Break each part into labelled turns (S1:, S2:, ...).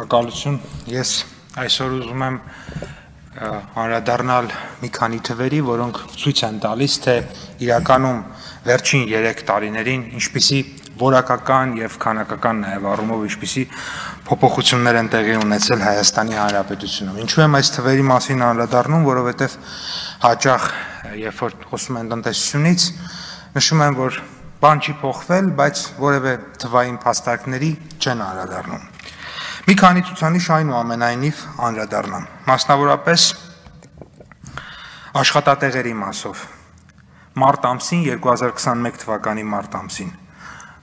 S1: Շնորհակալություն։ Ես այսօր ուզում եմ անդրադառնալ մի քանի թվերի, որոնք ցույց են տալիս, թե իրականում վերջին 3 տարիներին ինչպիսի որակական եւ քանակական նաեւ առումով ինչպիսի փոփոխություններ են տեղի ունեցել Հայաստանի Հանրապետությունում։ Ինչու եմ այս թվերի մասին անդրադառնում, որովհետեւ հաճախ երբ որ խոսում են տնտեսությունից, նշում են, որ բան չի փոխվել, բայց որևէ թվային փաստարկների չեն անդրադառնում։ Մի քանի ցուցանիշ այնուամենայնիվ անդրադառնամ, մասնավորապես աշխատատեղերի մասով։ Մարտ ամսին 2021 թվականի մարտ ամսին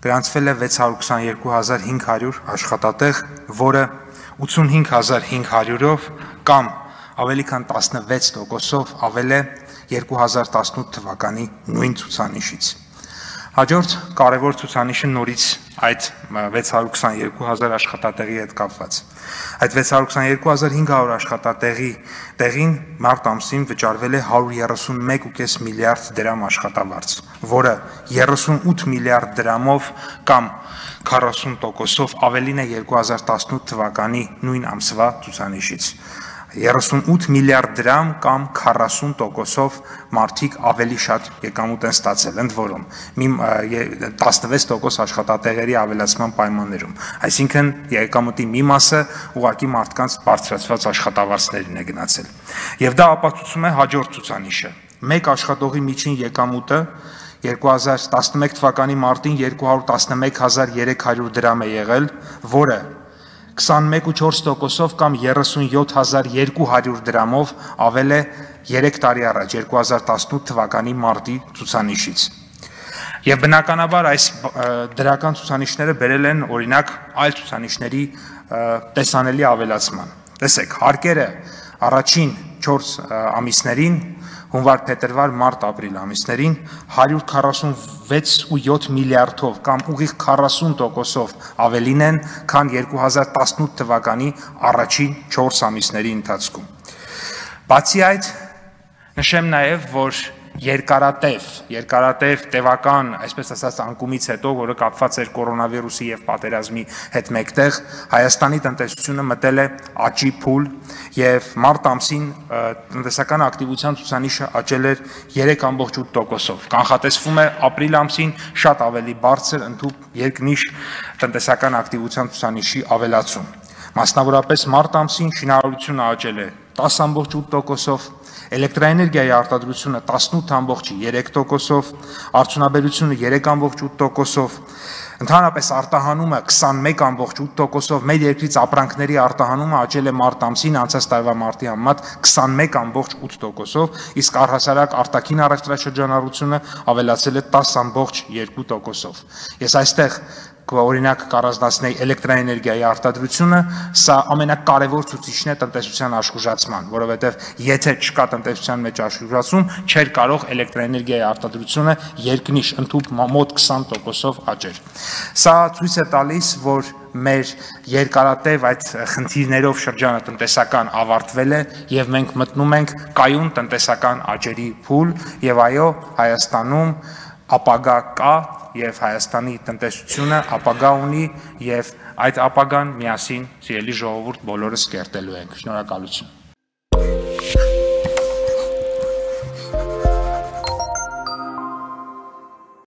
S1: գրանցվել է 622,500 աշխատատեղ, որը 85,500-ով կամ ավելի քան 16%-ով ավել է 2018 թվականի նույն ցուցանիշից։ Հաջորդ կարևոր ցուցանիշը նորից այդ 622,000 աշխատատեղի հետ կապված։ Այդ 622,500 աշխատատեղի տեղին մարտ ամսին վճարվել է 131.5 միլիարդ դրամ աշխատավարձ, որը 38 միլիարդ դրամով կամ 40%-ով ավելին է 2018 թվականի նույն ամսվա ցուցանիշից։ 38 միլիարդ դրամ կամ 40%-ով մարդիկ ավելի շատ եկամուտ են ստացել, ընդ որում 16% աշխատատեղերի ավելացման պայմաններում, այսինքն եկամուտի մի մասը ուղղակի մարդկանց բարձրացված աշխատավարձներին է գնացել։ Եվ դա ապացուցում է հաջորդ ցուցանիշը։ Մեկ աշխատողի միջին եկամուտը 2011 թվականի մարտին 211,300 դրամ է եղել, որը 21.4%-ով կամ 37,200 դրամով ավել է 3 տարի առաջ 2018 թվականի մարտի ցուցանիշից։ Եվ բնականաբար այս դրական ցուցանիշները բերել են օրինակ այլ ցուցանիշների տեսանելի ավելացման։ Տեսեք, հարկերը առաջին 4 ամիսներին հունվար, փետրվար, մարտ, ապրիլ ամիսներին 146.7 միլիարդով կամ ուղիղ 40%-ով ավելին են, քան 2018 թվականի առաջին 4 ամիսների ընթացքում։ Բացի այդ, նշեմ նաև, որ երկարատև տևական, այսպես ասած, անկումից հետո, որը կապված էր կորոնավիրուսի եւ պատերազմի հետ մեկտեղ, Հայաստանի տնտեսությունը մտել է աճի փուլ եւ մարտ ամսին տնտեսական ակտիվության ցուցանիշը աճել էր 3.8%-ով։ Կանխատեսվում է ապրիլ ամսին շատ ավելի բարձր ընդհանուր երկնիշ տնտեսական ակտիվության ցուցանիշի ավելացում։ Մասնավորապես մարտ ամսին շինարարությունը աճել է 10.8%-ով, էլեկտրաէներգիայի արտադրությունը 18.3%-ով, արդյունաբերությունը 3.8%-ով, ընդհանրապես արտահանումը 21.8%-ով, մեր երկրից ապրանքների արտահանումը աճել է մարտ ամսին անցած տարվա մարտի համեմատ 21.8%-ով, իսկ առհասարակ արտաքին առևտրաշրջանառությունը ավելացել է 10.2%-ով։ Ես այստեղ օրինակ կառանձնացնեի էլեկտրաէներգիայի արտադրությունը, սա ամենակարևոր ցուցիչն է տնտեսության աշխուժացման, որովհետև եթե չկա տնտեսության մեջ աշխուժացում, չէր կարող էլեկտրաէներգիայի արտադրությունը երկնիշ ընդհանուր մոտ 20%-ով աճել։ Սա ցույց է տալիս, որ մեր երկարատև այդ խնդիրներով շրջանը տնտեսական ավարտվել է եւ մենք մտնում ենք կայուն տնտեսական աճերի փուլ եւ այո, Հայաստանում ապագա կա եւ Հայաստանի տնտեսությունը ապագա ունի եւ այդ ապագան միասին, սիրելի ժողովուրդ, բոլորս կերտելու ենք։ Շնորհակալություն։